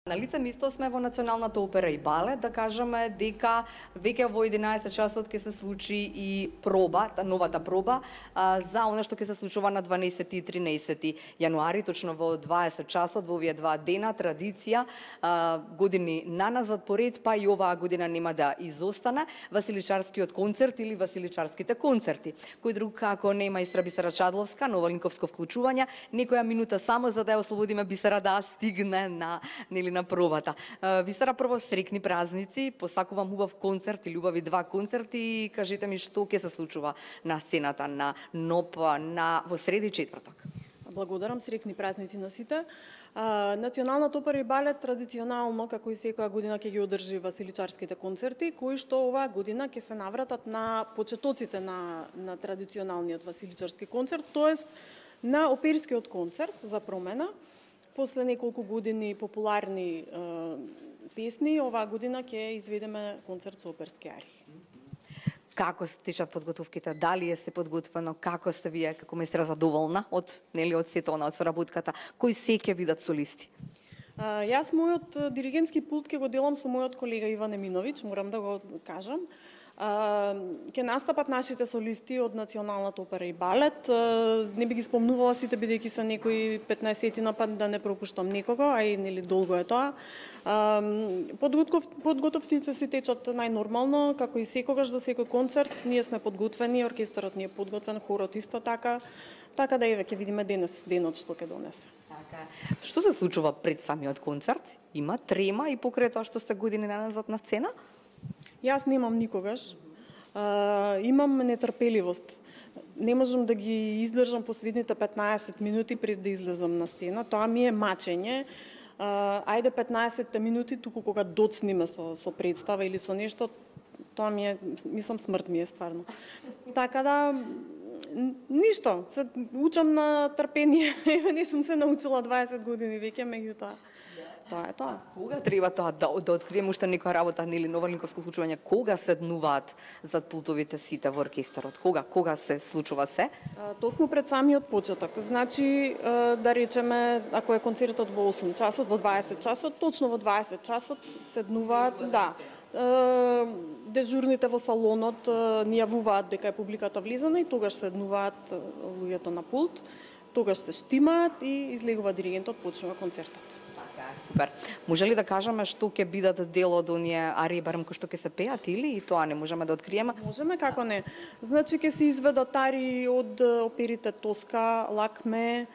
На лице место сме во Националната опера и балет, да кажеме дека веќе во 11 часот ќе се случи и проба, новата проба за она што ќе се случува на 12 и 13 јануари, точно во 20 часот, во овие два дена, традиција, години наназад поред, па и оваа година нема да изостане, Василичарскиот концерт или Василичарските концерти. Кој друг како не мајстра Бисера Чадловска, новолинковско вклучување, некоја минута само за да ја ослободиме Бисера да стигне на пробата. Бисера, прво срекни празници, посакувам убав концерт или убави два концерти и кажете ми што ќе се случува на сцената на НОП во среда и четврток. Благодарам, срекни празници на сите. Националната опера и балет традиционално, како и секоја година, ќе ги одржи Василичарските концерти, кои што оваа година ќе се навратат на почетоците на традиционалниот Василичарски концерт, тоест на оперскиот концерт за промена. После неколку години популарни песни, оваа година ќе изведеме концерт со оперски арии. Како се течат подготовките? Дали се подготвено? Како сте вие како мајстра задоволна од сето она, од соработката? Кои се ќе бидат солисти? Јас мојот диригентски пулт ќе го делам со мојот колега Иван Еминовиќ, морам да го кажам. Ќе настапат нашите солисти од Националната опера и балет. Не би ги спомнувала сите, бидејќи се некои 15-тина, па да не пропуштам некого, а и долго е тоа. Подготовките си течат најнормално, како и секогаш за секој концерт. Ние сме подготвени, оркестарот ни е подготвен, хорот исто така. Така да еве ќе видиме денес денот што ќе донесе. Така. Што се случува пред самиот концерт? Има трема и покрај тоа што сте години наназад на сцена? Јас немам никогаш. Имам нетрпеливост. Не можам да ги издржам последните 15 минути пред да излезам на сцена. Тоа ми е мачење. Ајде 15 минути туку кога доцниме со представа или со нешто, тоа ми е, мислам, смрт ми е стварно. Така да ништо, се учам на трпение. Не сум се научила 20 години веќе, меѓутоа тоа е тоа. Кога треба тоа да откриеме уште некоја работа или новолинковско случување? Кога седнуваат зад пултовите сите во оркестарот? Кога се случува се? Токму пред самиот почеток. Значи, да речеме, ако е концертот во 8 часот, во 20 часот, точно во 20 часот седнуваат, да. Дежурните во салонот ни јавуваат дека е публиката влизана и тогаш седнуваат луѓето на пулт, тогаш се штимаат и излегува диригентот, почнува концертот. Супер. Може ли да кажеме што ќе бидат дел од оние арии, барем кои што ќе се пеат, или и тоа не можеме да откриеме? Можеме, како не. Значи ќе се изведат арии од оперите Тоска, Лакме,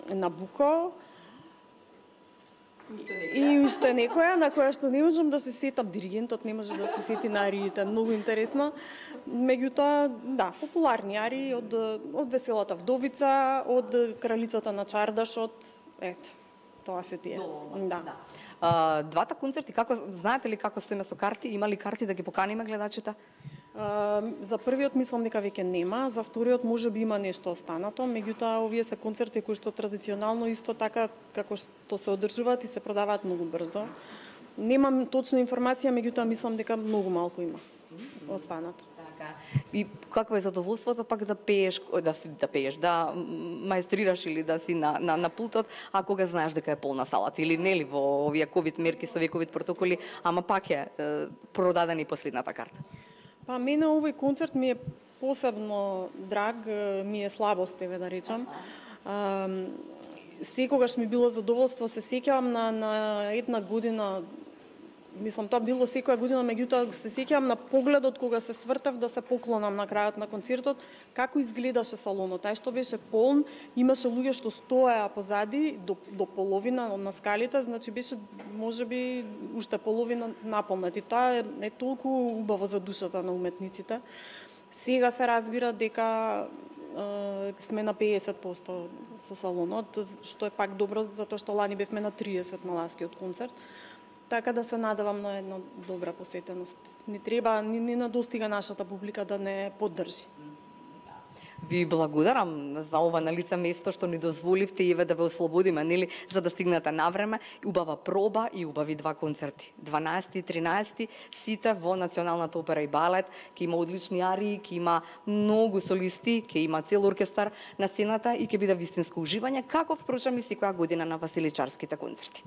Набуко и уште некоја на која што не можам да се сетам. Диригентот не може да се сети на ариите, многу интересно. Меѓутоа, да, популарни арии од Веселата вдовица, од Кралицата на чардашот. Ето, тоа се тие. Да. Двата концерти, знаете ли како стоиме со карти? Има ли карти да ги поканиме гледачите? За првиот мислам дека веќе нема, за вториот можеби има нешто останато, меѓутоа овие се концерти кои што традиционално исто така како што се одржуваат и се продаваат многу брзо. Немам точна информација, меѓутоа мислам дека многу малку има останато. И какво е задоволството пак да пееш, да маестрираш или да си на пултот, а кога знаеш дека е полна салата или нели во овие ковид мерки со овие ковид протоколи, ама пак е продадена и последната карта. Па мене овој концерт ми е посебно драг, ми е слабост, да речам. Секогаш ми било задоволство, се сеќавам на една година. Мислам, тоа било секоја година, меѓутоа се сеќавам на погледот кога се свртав да се поклонам на крајот на концертот, како изгледаше салонот. Тај што беше полн, имаше луѓе што стоеа позади до половина на скалите, значи беше можеби уште половина наполнати. Тоа е толку убаво за душата на уметниците. Сега се разбира дека сме на 50% со салонот, што е пак добро, затоа што лани бевме на 30% на ласкиот концерт. Така да се надевам на една добра посетеност. Не треба, не надостига нашата публика да не поддржи. Ви благодарам за ова на лице место што ни дозволивте и да ве ослободиме, нели, за да стигнете на време. Убава проба и убави два концерти. 12 и 13 сите во Националната опера и балет, ќе има одлични арии, ќе има многу солисти, ќе има цел оркестар на сцената и ќе биде вистинско уживање, како впрочем и секоја година на Василичарските концерти.